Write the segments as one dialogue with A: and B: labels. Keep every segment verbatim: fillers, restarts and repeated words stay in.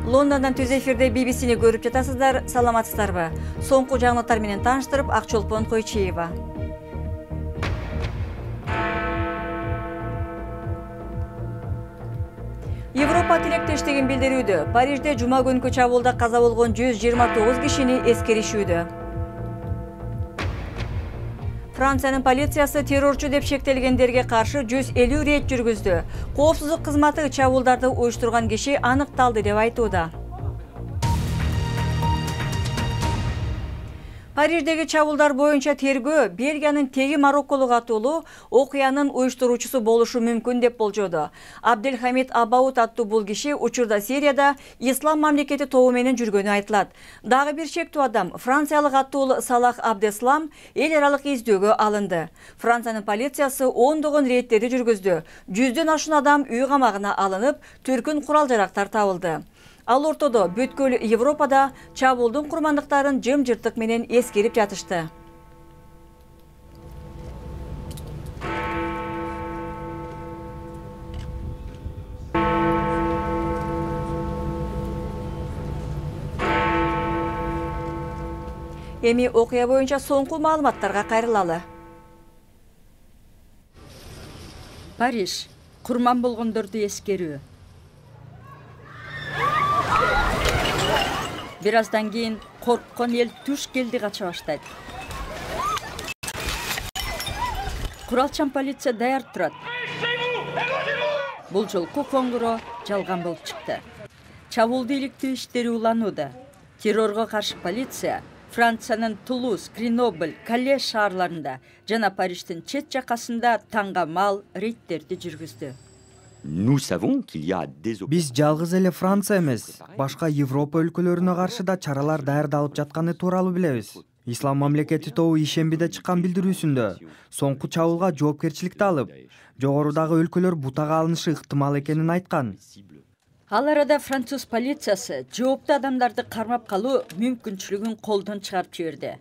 A: Лондондон түз эфирде би би сини көрүп жатасыздар. Саламатсыздарбы? Соңку жаңылыктар менен тааныштырып, Акчолпон Койчиева. Европа тилектештигин билдирүүдө. Парижде жума күнкү чабуулда каза болгон жүз жыйырма тогуз кишини эскеришүүдө. Франциянын полициясы террорчу деп шектелгендерге каршы жүз элүү рейд жүргүздү. Коопсуздук кызматы чабуулдарды уюштурган киши аныкталды деп айтууда. Париждеги чабуулдар боюнча тергөө Бельгиянын теги Марокколук атуулуу окуянын уюштуруучусу болушу мүмкүн деп болжоду. Абделхамид Абаут аттуу бул киши учурда Сирияда Ислам мамлекети тобу менен жүргөнү айтылат. Дагы бир чектүү адам, франциялык аттуулуу Салах Абдеслам эл аралык издөөгө алынды. Франциянын полициясы ондогон рейдтерди жүргүздү. Жүздөн ашуун адам үй камагына алынып, түркүн курал жарактар табылды. Ал ортодо бүткүл Европада чабуулдун курмандыктарын жым-жыртык менен эскерип жатышты. Эми окуя боюнча соңку маалыматтарга кайрылалы.
B: Париж курман болгондорду эскерүү. Бир аздан кийин корккон эл туш келди кача баштайт. Куралчан полиция даяр турат. Бул жолку коңгуроо жалган болуп чыкты. Чабуулду иликтөө иштери уланууда. Террорго каршы полиция Франциянын Тулуз, Гренобль, Кале шаарларында жана Париждин чет жакасында таңга мал рейдтерди жүргүздү.
C: Биз жалгыз эле Франция эмес, башка Европа өлкөлөрүнө каршы да чаралар даярдалып жатканы тууралуу билебиз. Ислам мамлекети тобу ишембиде чыккан билдирүүсүндө соңку чабуулга жоопкерчиликти алып, жогорудагы өлкөлөр бутага алынышы ыктымал экенин айткан.
B: Ал арада француз полициясы жооптуу адамдарды кармап калуу мүмкүнчүлүгүн колдон чыгарып жиберди.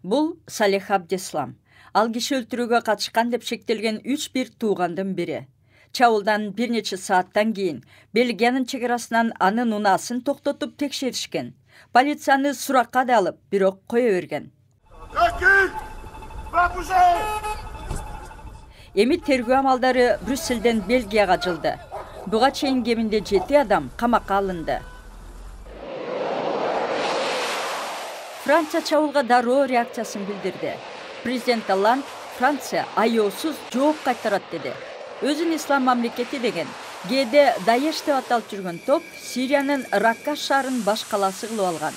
B: Бул Салех Абдеслам. Ал киши өлтүрүүгө катышкан деп шектелген үч бир туугандын бири. Чабуулдан бир нече сааттан кийин Бельгиянын чек арасынан анын унаасын токтотуп текшеришкен. Полицияны суракка да алып, бирок кое берген. Эми тергөө амалдары Брюсселден Бельгияга жылды. Буга чейин кеминде жети адам камакка алынды. Франция чабуулга дароо реакциясын билдирди. Президент Олланд Франция аяосуз жооп кайтарат деди. Өзүн ислам мамлекети деген кээде Даеш деп аталып жүргөн топ Сириянын Ракка шаарын баш калаасы кылып алган.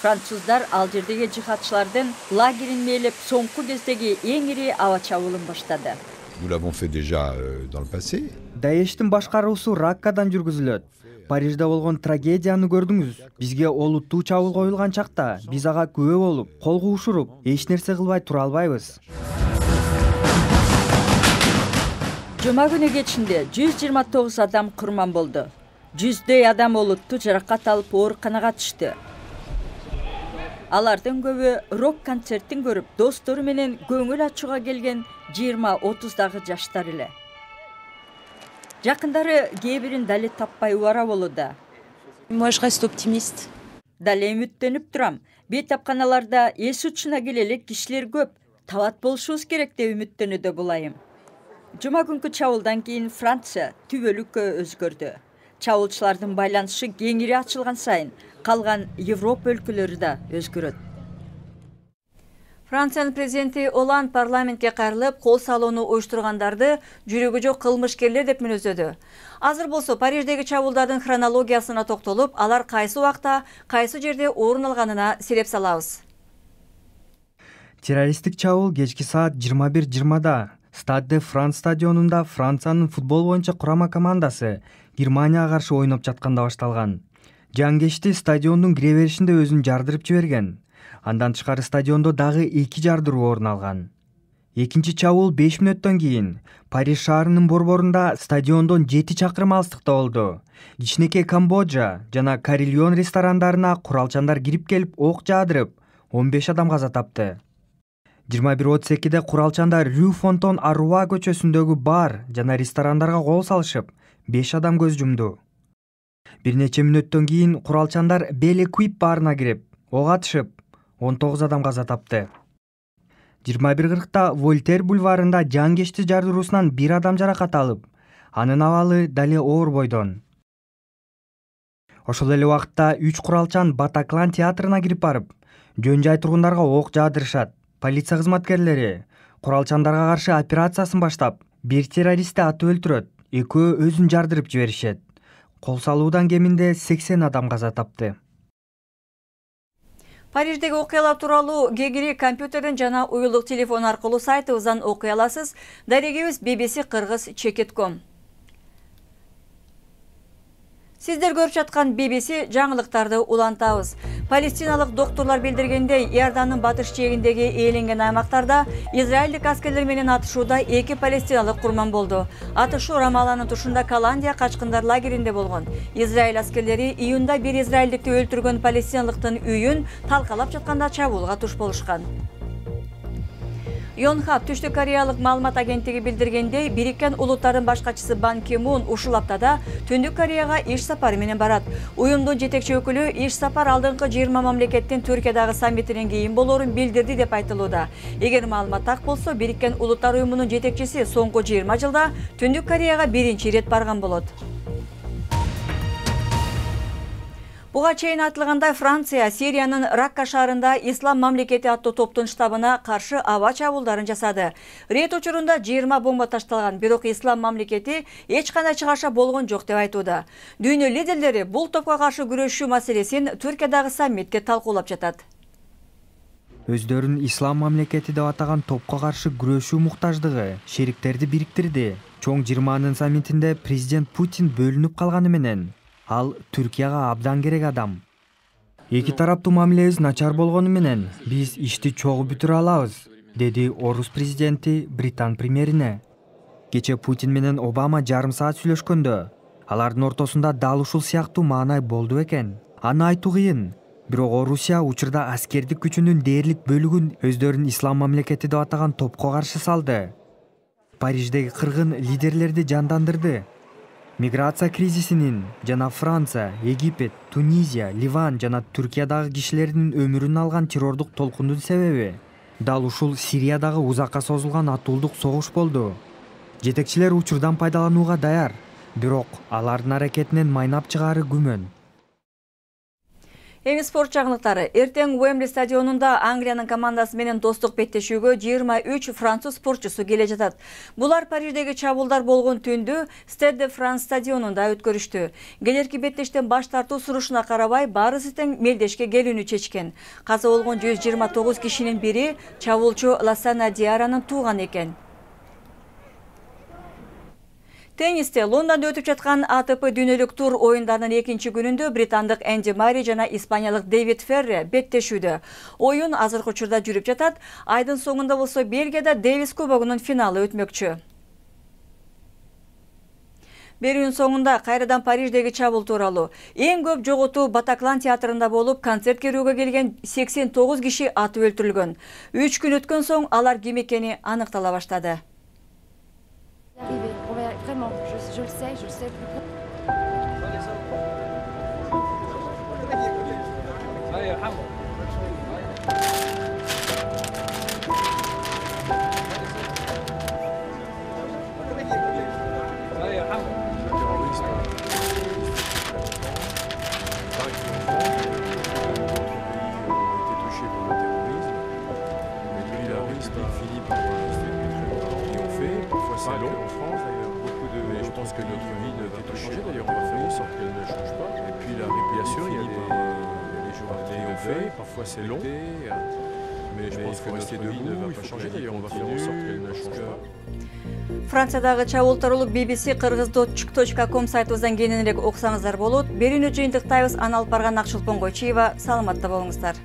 B: Француздар ал жердеги жихадчылардын лагерин мээлеп соңку кездеги эң ири аба чабуулун баштады.
C: Даештин башкаруусу Раккадан жүргүзүлөт. Парижде болгон трагедияны көрдүңүз. Бизге олуттуу чабуул коюлган чакта биз ага күбө болуп, кол куушуруп, эч нерсе кылбай тура албайбыз.
B: Жума күнү кечинде жүз жыйырма тогуз адам курман болду. Жүздөй адам олуттуу жаракат алып ооруканага түштү. Алардын көбү рок-концертин көрүп, достору менен көңүл ачууга келген жыйырма отуздагы жаштар эле. Жакындары кээ бирин дале таппай убара болууда.
D: Moi je reste optimiste.
B: Дале үмүттөнүп турам. Бейтапканаларда эс учуна келе элек кишилер көп. Табат болушубуз керек деп үмүттөнүүдө булайым. Жума күнкү чабуулдан кийин Франция түбөлүккө өзгөрдү. Чабуулчулардын байланышы кеңири ачылган сайын калган Европа өлкөлөрү да өзгөрөт.
A: Франциянын президенти Оланд парламентке кайрылып, кол салууну уюштургандарды жүрөгү жок кылмышкерлер деп мүнөздөдү. Азыр болсо Париждеги чабуулдардын хронологиясына токтолуп, алар кайсы убакта, кайсы жерде орун алганына сиреп салабыз.
C: Террористтик чабуул кечки саат жыйырма бир жыйырмада Стade de France стадионунда Франциянын футбол боюнча курама командасы Германияга каршы ойноп жатканда башталган. Жангечти стадиондун кире беришинде өзүн жардырып жиберген. Андан тышкары стадиондо дагы эки жардыруу орун алган. Экинчи чабуул беш мүнөттөн кийин Париж шаарынын борборунда стадиондон жети чакырым алыстыкта болду. Кичинекей Камбоджа жана Карильон ресторандарына куралчандар кирип келип ок жаадырып, он беш адам каза тапты. жыйырма бир отуз экиде куралчандар Рю Фонтон Аруа көчөсүндөгү бар жана ресторандарга кол салышып, беш адам көз жумду. Бир нече мүнөттөн кийин куралчандар Белеквип баарына кирип, ок атышып, он тогуз адам каза тапты. жыйырма бир кыркта Вольтер бульварында жангечти жардыруусунан бир адам жаракат алып, анын абалы дале оор бойдон. Ошол эле убакытта үч куралчан Батаклан театрына кирип барып, жөн жай тургундарга ок жаадырышат. Полиция кызматкерлери куралчандарга каршы операциясын баштап, бир террористти атып өлтүрөт, экөө өзүн жардырып жиберишет. Кол салуудан кеминде сексен адам каза тапты.
A: Париждеги окуялар тууралуу кегири компьютерден жана уюлдук телефон аркылуу сайтыбыздан окуй аласыз. Дарегибиз би би си кыргыз чекит точка ком. Сиздер көрүп жаткан би би си жаңылыктарды улантабыз. Палестиналык докторлор билдиргендей, Иордандын батыш жээгиндеги ээленген аймактарда израилдик аскерлер менен атышууда эки палестиналык курман болду. Атышуу Рамаланын тушунда Каландия качкындар лагеринде болгон. Израиль аскерлери июнда бир израилдикти өлтүргөн палестиналыктын үйүн талкалап жатканда чабуулга туш болушкан. Йонхап Түштүк Кореялык маалымат агенттиги билдиргендей, Бириккен Улуттардын башкачысы Бан Ки Мун ушул аптада Түндүк Кореяга иш сапары менен барат. Уюмдун жетекчи өкүлү иш сапар алдыңкы жыйырма мамлекеттин Түркиядагы саммитинен кийин болоорун билдирди деп айтылууда. Эгер маалымат так болсо, Бириккен Улуттар уюмунун жетекчиси соңку жыйырма жылда Түндүк Кореяга биринчи ирет барган болот. Буга чейин айтылгандай, Франция Сириянын Ракка шаарында Ислам мамлекети аттуу топтун штабына каршы аба чабуулдарын жасады. Рейд учурунда жыйырма бомба ташталган, бирок Ислам мамлекети эч кандай чыгаша болгон жок деп айтууда. Дүйнө лидерлери бул топко каршы күрөшүү маселесин Түркиядагы саммитте талкуулап жатат.
C: Өздөрүн Ислам мамлекети деп атаган топко каршы күрөшүү муктаждыгы шериктерди бириктирди. Чоң жыйырманын саммитинде президент Путин бөлүнүп калганы менен ал Түркияга абдан керек адам. Эки тараптуу мамилебиз начар болгону менен биз ишти чогуу бүтүрө алабыз, деди Орус президенти Британ премьерине. Кече Путин менен Обама жарым саат сүйлөшкөндө, алардын ортосунда дал ушул сыяктуу маанай болду экен. Аны айтуу кыйын. Бирок Орусия учурда аскердик күчүнүн дээрлик бөлүгүн өздөрүн Ислам мамлекети деп атаган топко каршы салды. Париждеги кыргын лидерлерди жандандырды. Миграция кризисинин жана Франция, Египет, Тунизия, Ливан жана Түркиядагы кишилердин өмүрүн алган террордук толкундун себеби дал ушул Сириядагы узакка созулган атуулдук согуш болду. Жетекчилер учурдан пайдаланууга даяр, бирок алардын аракетинен майнап чыгаары күмөн.
A: Эми спорт жаңылыктары. Эртең Уэмбли стадионунда Англиянын командасы менен достук беттешүүгө жыйырма үч француз спортчусу келе жатат. Булар Париждеги чабуулдар болгон түндү Stade de France стадионунда өткөрүштү. Келерки беттештен баш тартуу сурушуна карабай, баарысы тең мелдешке келүүнү чечкен. Каза болгон жүз жыйырма тогуз кишинин бири чабуулчу Ласана Диаранын тууганы экен. Теннисте Лондонда өтүп жаткан А Т П дүйнөлүк тур оюндарынын экинчи күнүндө британдык Энди Мари жана испаниялык Дэвид Ферре беттешүүдө. Оюн азыркы учурда жүрүп жатат. Айдын соңунда болсо Бельгияда Дэвис кубогунун финалы өтмөкчү. Берүүнүн соңунда кайрадан Париждеги чабуул тууралуу. Эң көп жоготуу Батаклан театрында болуп, концерт көрүүгө келген сексен тогуз киши атып өлтүрүлгөн. үч күн өткөн соң алар ким экени аныктала баштады.
D: Vraiment, je, je le sais, je le sais.
E: C'est long en France d'ailleurs, beaucoup de. Mais je pense que notre vie ne va pas changer d'ailleurs, on va faire en sorte qu'elle ne change pas. Et puis la réplication, il y a des, des jours qui ont fait, parfois c'est long. Mais je pense que notre vie ne va pas changer d'ailleurs, on va faire en sorte qu'elle ne change pas.
A: Франциядагы чабуул тууралуу би би си кыргыз точка ком сайтыбыздан кененирээк окусаңыздар болот. Берүүнү жыйынтыктайбыз. Аны алып барган Акчылпон Койчиева. Саламатта болуңуздар.